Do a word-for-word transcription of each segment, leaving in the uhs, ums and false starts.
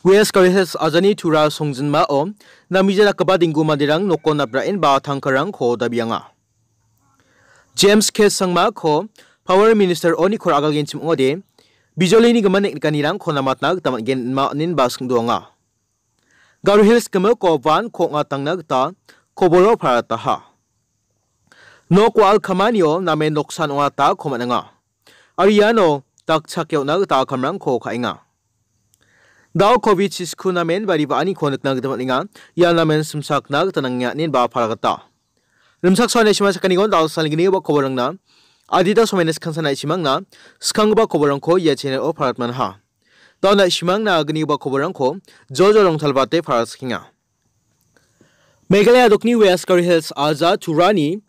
West Garo Hills ajani Tura songjinmao namgija dakgipa dinggu manderang nokon napraenba tangkarangko dabianga. James K Sangmako Power Minister-oni kor agalgenchim ong·ode, bijolini gimin neknikanirangko namatna gita man·gen inma oninba singdoanga. Garo Hills gimiko van ko ong·atangna gita koboro parataha. Nok wa·al kamanio namen noksan ong·atako man·enga. Aro iano dakchake on·a gita kamrangko ka·enga. Dao covid chisku namen bari ba·aniko nikna gita man·enga. Ia namen simsakna gita nangenga inenba paragata. Rimchaksoani aisima sakanigon dal salgini ba koborangna adita somaina skangsan aisimangna skanggipa koborangko ia channel-o paratmanha. Dao na·simangna agnigipa koborangko jojo rongtalbate paraskenga. Meghalaya dokni West Garo Hills aja Turani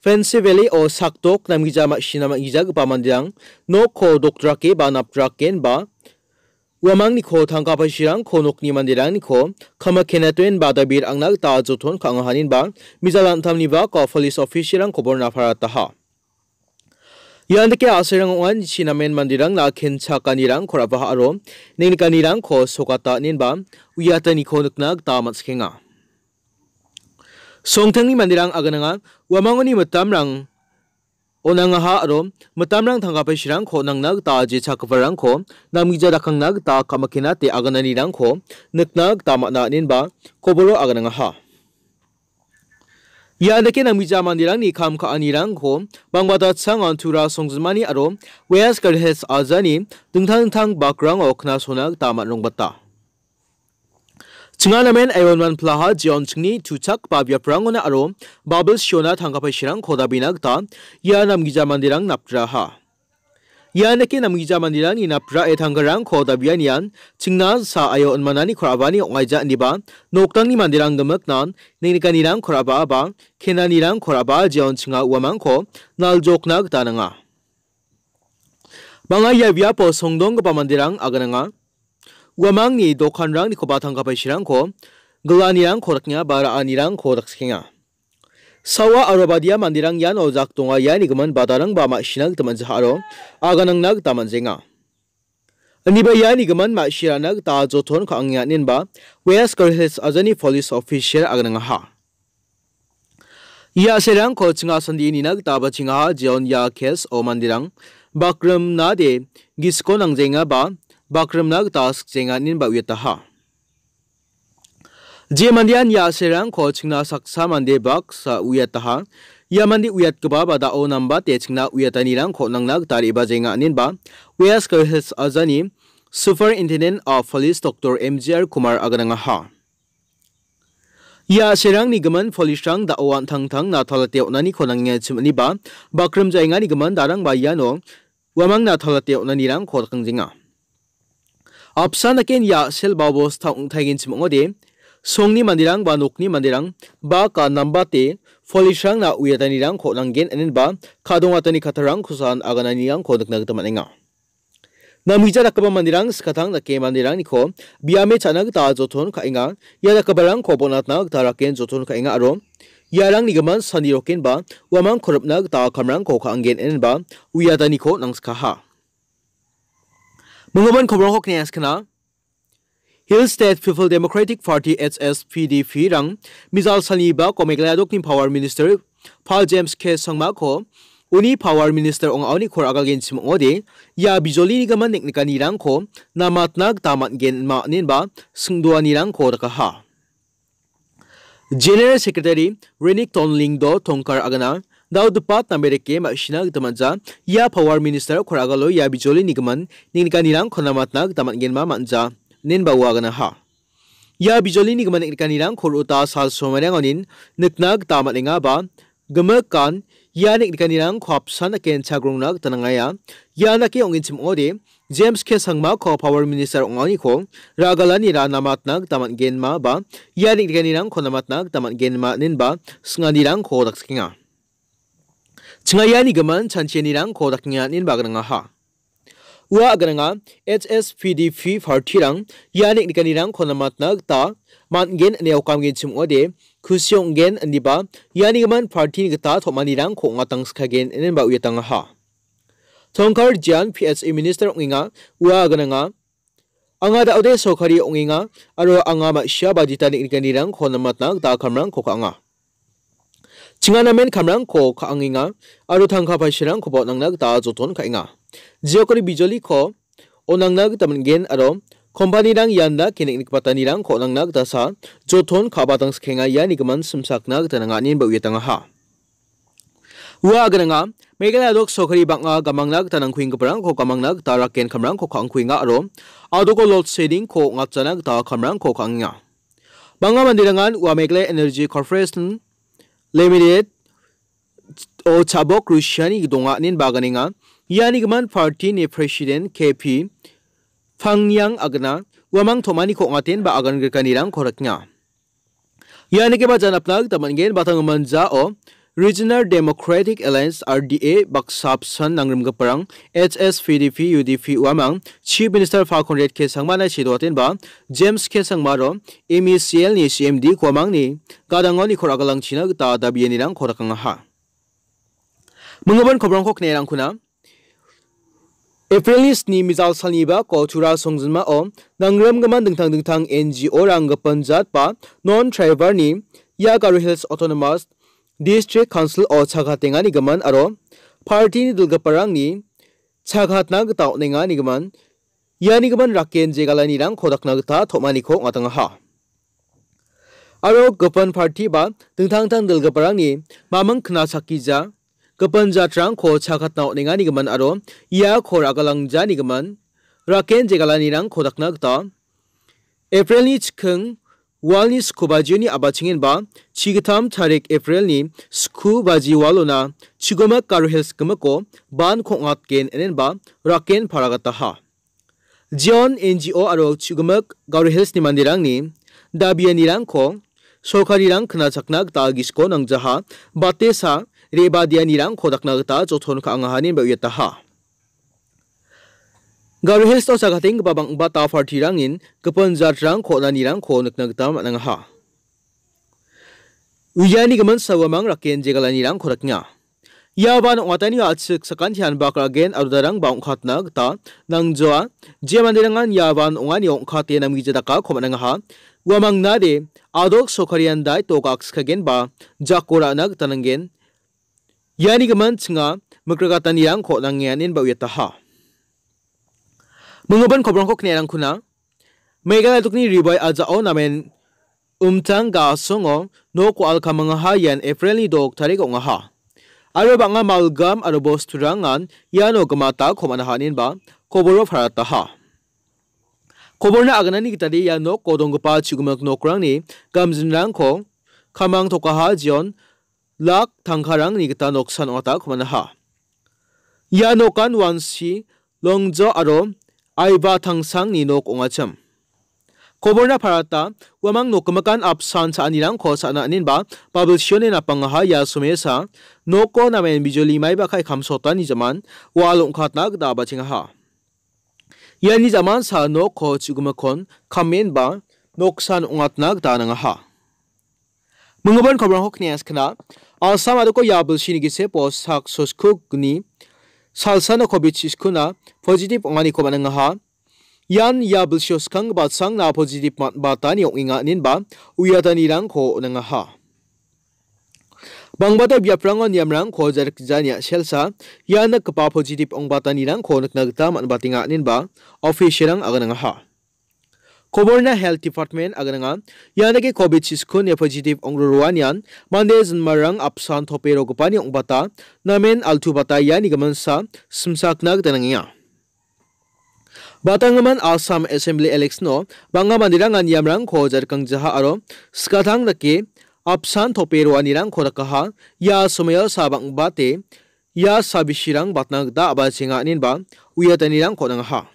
Fancy Valley-o sakdok namgija ma·sina man·gijagipa manderang nokko dokdrake ba napdraken ba uamangniko tangka paisirangko nokni manderangniko kama kenatoen ba dabir angna gita joton ka·angahaninba mijal an·tamni bako police officer-rang koborna parataha. Ian dake a·serang ong·a, nichi namen manderangna kenchakanirangko ra·baha aro nengnikanirangko sokata inenba uiataniko nikna gita man·sikenga. Songtangni manderang agananga uamangoni mitamrang on·angaha aro mitamrang tangka paisirangko on·angna gita jechakgiparangko namgija dakangna gita kamakenate agananirangko nikna gita man·a inenba koboro aganangaha. Ia dake namgija manderangni kam ka·anirangko bangbata changon Tura songjinmani aro West Garo Hills ajani dingtang dingtang bakrango knasona gita man·rongbata. Chinganamen Iron Man plaha jeon chingni tuchakgipa biaprangona aro Babel Siona tangka paisirangko dabina gita ia namgija manderang napdraha. Ian dake namgija manderangni naprae tangkarangko dabianian chingna sa·aio on·manani kor·abani ong·aija ineba noktangni manderang gimiknan nengnikanirang kor·aba aba kenanirang kor·aba jeon chinga uamangko naljokna gita nanga. Bang·a ia biapo songdonggipa manderang agananga. Uamangni dokanrangnikoba tangka paisirangko gilanirangko dakenga ba ra·anirangko dakchikenga. Sawa aro badia manderang iano jak donga, iani gimin badarangba ma·sina gita man·jaha aro aganangna gita man·jenga. Indiba iani gimin ma·sirana gita joton ka·angenga inenba West Garo Hills ajani police officer aganangaha. Ia a·serangko chinga sandie nina gita bachengaha jeon ia case-o manderang bakrimnade gisiko nangjenga ba bakrimna gita sikjenga inenba uiataha. Je mandean ia a·serangko chingna saksa mande baksa uiataha. Ia mande uiatgipa ba da·o nambate chingna uiatanirangko nangna gita re·bajenga inenba West Garo Hills ajani Superintendent of Police Doctor M G R Kumar aganangaha. Ia a·serangni gimin police-rang da·o an·tangtangna talate on·aniko nangenga chim iniba bakrim jaengani gimin darangba iano uamangna talate on·anirangko dakangjenga. Apsan daken ia a·sel ba bosta ong·taigenchim ong·ode, songni manderang ba nokni manderang baka nambate police-rangna uiatanirangko nanggen inenba kadongatani kattarangkosan agananirangko nikna gita man·enga. Namgija dakgipa manderang skatang dake manderangniko biame cha·na gita joton ka·enga, ia dakgiparangko bonatna gita raken joton ka·enga aro iarangni gimin sani rokenba uamangko ripna gita kamrangko ka·angen inenba uiataniko nangskaha. Minggimin kobrangko kniaskna. Hill State People Democratic Party, H S P D P-rang mijal salni bako Meghalaya dokni Power Minister Pal James K Sangmako uni Power Minister ong·aoni kor agalgenchim ong·ode, ia bijolini gimin neknikanirangko namatna gita man·gen ma inenba singdoanirangko dakaha. General Secretary Renik Tonlingdo Tongkar agana, dao dipat namereke ma·sina gita man·ja, ia Power Minister kor agalo ia bijolini gimin neknikanirangko namatna gita man·genma man·ja, inenba ua aganaha. Ia bijolini gimin neknikanirangko ro·ota sal somairang onin nikna gita man·enga ba, gimikan ia neknikanirangko apsan dake inchagrongna gita nangaia. Ia dake ong·genchim ong·ode, James K Sangmako Power Minister ong·aoniko ragalanira namatna gita man·genma ba ia neknikanirangko namatna gita man·genma inenba singanirangko dakchikenga. Chingaiani gimin chanchianirangko dakenga inenba aganangaha. Ua agananga H S P D P party-rang ia neknikanirangko namatna gita man·gen ine okamgenchim ong·ode, kusi ong·gen indiba iani gimin party-ni gita tom·anirangko ong·atangskagen inenba uiatangaha. Tongkar Jian P H E Minister ong·enga, ua agananga Anga da·ode sorkari ong·enga aro anga ma·sia bajeta neng·nikanirangko namatna gita kamrangko ka·anga. Chinga namen kamrangko ka·angenga aro tangka paisarangkoba on·angna gita joton ka·enga. Jeokri bijoliko on·angna gita man·gen aro kompanirang ian dake neng·nikbatanirangko on·angna gita sa joton ka·batang sikenga, ianigimin simsakna gita nanga ine ba uiatangaha. Ua agananga Meghalaya dok sorkari bang·a gamangna gita nangkuenggiparangko gamangna gita raken kamrangko ka·angkuenga aro adoko load shedding-ko ong·atjana gita kamrangko ka·angenga. Bang·a manderangan ua Meghalaya Energy Corporation Limited o chabok rusiani donga inen ba aganenga. Ianigimin party-ni president K P Phangniang agana uamang tom·aniko ong·aten ba agan grikanirangko rikna. Ianigiba janapna gita man·gen, batang manjao Regional Democratic Alliance, R D A, baksa apsan nangrimgiparang H S P D P, U D P uamang Chief Minister Pha Conrad K Sangmana sedoatenba James K Sangmaro M E C L-ni C M D uamangni gadangoni kor agalangchina gita dabianirangko rakangaha. Minggipa kobrangko knerangkuna. April-ni sni mijal salniba ko Tura songjinmao nangrimgimin dingtang dingtang N G O-rang gipin jat ba non-tribal-ni ia Garo Hills Autonomous District Council-o chakatengani gimin aro party-ni dilgiparangni chakatna gita on·engani gimin, iani gimin raken jegalanirangko dakna gita tom·aniko ong·atangaha. Aro gipin party ba dingtang dingtang dilgiparangni maming knachakgija gipin jatrangko chakatna on·engani gimin aro iako ragalangjani gimin raken jegalanirangko dakna gita April-ni chiking walni sku bajioni abachengenba chigittam tarik April-ni sku baji walona chigimik Garo Hills gimiko ban kong·atgen enenba raken paragataha. Jeon N G O aro chigimik Garo Hills-ni manderangni dabianirangko sorkarirang knachakna gita gisiko nangjaha, batesa re·badianirangko dakna gita joton ka·angaha ineba uiataha. Garo Hills-o chakatenggipa bang·bata party-rangnin gipin jatrangko on·anirangko nikna gita man·angaha. Uiani gimin sa uamang raken jegalanirangko rikna. Ia ban ong·atani a·chik sakantian bak ra·gen aro darangba ong·katna gita nangjoa. Je manderangan ia ban ong·ani ong·kate namgija dakako man·angaha. Uamang nade adok sorkarian daito gakskagenba jako ra·na gita nanggen. Iani gimin chinga mikragatanirangko nangenganin ba uiataha. Minggipa kobrangko knerangkuna. Meghalaya dokni ribai ajao namen umtang gasongo nok wa·al kamangaha ian April-ni dok tarik ong·aha. Aro bang·a malgam aro bosturangan iano gimata komanaha inenba koboro parataha. Koborna aganani gitade ia noko donggipa chigimik nokrangni gamjinrangko kamang tokaha jeon lak tangkarangni gita noksan ong·atako man·aha. Ia nokan wansi, longjo aro aiba tangsangni nok ong·achim. Koborna parata, uamang nokgimikan apsan cha·anirangko sa·na aninba babilsioni napangaha ia somesa noko namen bijoli maiba kai kamsotani jaman wa·al ong·katna gita abachengaha. Iani jamansa noko chigimikon kamenba noksan ong·atna gita nangaha. Minggipa kobrangko kniaskna, Assam adoko ia bilsini gisepo sak soskugni salsano covid chiskuna positive ong·aniko man·angaha. Ian ia bilsio skanggipa sangna positive man·batani ong·enga inenba uiatanirangko on·angaha. Bangbata biaprango niamrangko jarikjania selsa ia nikgipa positive ong·batanirangko nikna gita man·batenga inenba official-rang aganangaha. Koborna Health Department agananga, ianake covid chiskuni positive ong·roroanian mande jinmarang apsan tope rogipani ong·bata, namen altu bata iani giminsa simsakna gita nangenga. Batanggimin Assam Assembly election-o bang·a manderangan niamrangko jarikangjaha aro skatang dake apsan tope roanirangko dakaha, ia somoio sa bang·bate ia sabisirang batna gita abachenga inenba uiatanirangko nangaha.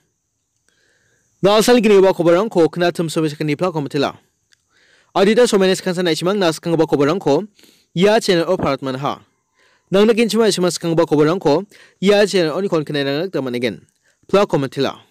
Nalsal gnigipa koborangko knatim somi sakani plako mitela. Adita somene skansa naisimang na skanggipa koborangko ia channel-o parat manaha. Nangna kinchima isima skanggipa koborangko ia channel-oni kon knairangna gita man·egen. Plako mitela.